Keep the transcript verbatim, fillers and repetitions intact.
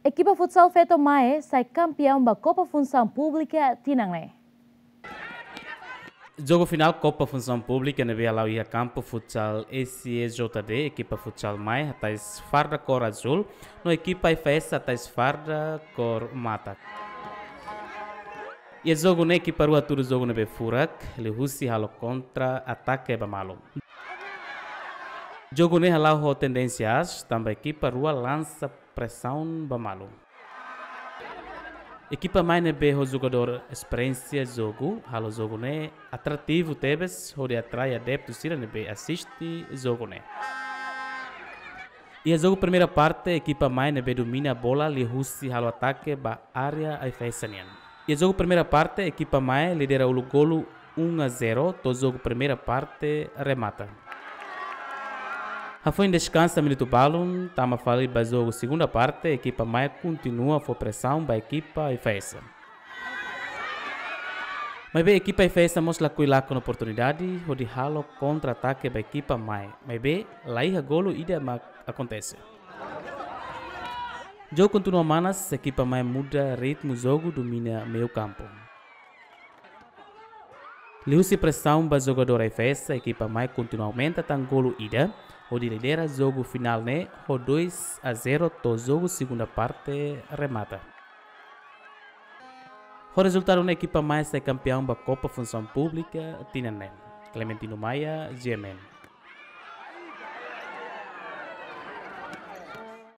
Ekipa futsal feto MAE sai kampeaun ba Kopa Funsaun Públika tinan ne'e. Jogu finál Kopa Funsaun Públika ne'ebé hala'o iha kampu futsal S E J D, ekipa futsal MAE hatais farda kór azúl, no ekipa F S hatais farda kór mata. Iha jogu ne'e ekipa rua hatudu jogu ne'ebé furak, liuhusi halo kontra-atake ba malu. Jogu ne'e hala'o ho tendénsia aas, tanba ekipa rua lansa presaun ba malu. Ekipa MAE ne'ebé ho jogadór esperiénsia jogu, halo jogu ne'e atrativu tebes, hodi atrai adeptu sira ne'ebé asiste jogu ne'e. Iha jogu primeira parte, ekipa MAE ne'ebé domina bola liuhusi halo atake ba área F S nian. Iha jogu primeira parte, ekipa MAE lidera uluk golu um a zero, to'o jogu primeira parte remata. Hafoin deskansa minutu balun, tama fali ba jogu segunda parte, ekipa MAE kontinua fó presaun ba ekipa F S. Maibé ekipa F S mós lakohi lakon oportunidade, hodi halo kontra-atake ba ekipa MAE. Maibé, laiha golu ida mak akontese. Jogu kontinua manas, ekipa MAE muda ritmu jogu, domina meiu kampu. Liuhusi presaun ba jogadór F S, ekipa MAE kontinua aumenta tan golu ida, hodi lidera jogu finál ne'e ho dois a zero to'o jogu segunda parte remata. Ho rezultadu ne'e ekipa MAE sai kampeaun ba Kopa Funsaun Públika tinan ne'e. Clementino Maia, G M N.